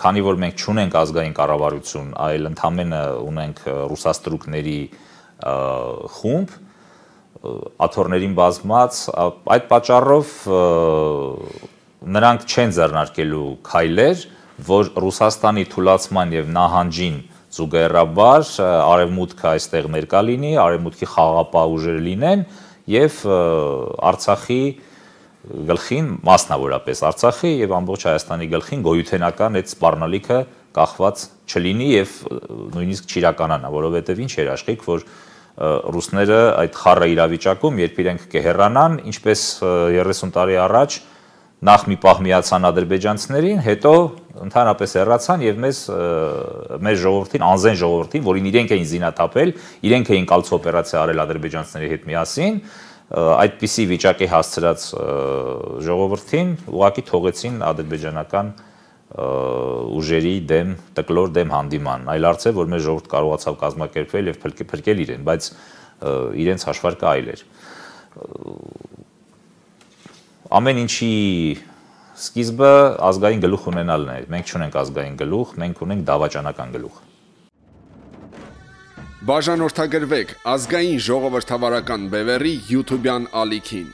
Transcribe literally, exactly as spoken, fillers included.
քանի որ մենք չունենք ազգային կառավարություն, այլ ընդամենը ունենք ռուսաստրուկների խումբ, աթոռներին բազմած, այդ պատճառով նրանք չեն ձեռնարկելու քայլեր, որ Ռուսաստանի թուլացման եւ նահանջին զուգահեռաբար արևմուտքը այստեղ ներկա լինի, արևմուտքի խաղաղապահ ուժերը լինեն եւ Արցախի գլխին, մասնավորապես Արցախի եւ ամբողջ Հայաստանի գլխին գոյութենական այդ սպառնալիքը կախված չլինի եւ նույնիսկ չիրականանա, որովհետեւ ինչ երաշխիք, որ ռուսները այդ խառը իրավիճակում, երբ իրենք կհեռանան, ինչպես երեսուն տարի առաջ նախ մի պահ միացան ադրբեջանցիներին, հետո ընդհանրապես հեռացան եւ մեզ մեր ժողովրդին, անզեն ժողովրդին, որին իրենք էին զինաթափել, իրենք էին կալցո օպերացիա արել ադրբեջանցիների հետ միասին, այդպիսի վիճակի հասցրած ժողովրդին ուղղակի թողեցին ադրբեջանական ուժերի դեմ, տկլոր դեմ հանդիման, այլ արց է, որ մեր ժողովուրդ կարողացավ կազմակերպվել եւ փրկել իրեն, բայց իրենց հաշվարկը այլ էր։ Ամեն ինչի սկիզբը ազգային գլուխ ունենալն է, մենք չունենք ազգային գլուխ, մենք ունենք դավաճանական գլուխ։ Բաժանորդագրվեք ազգային ժողովրդավարական բևեռի YouTube-յան ալիքին։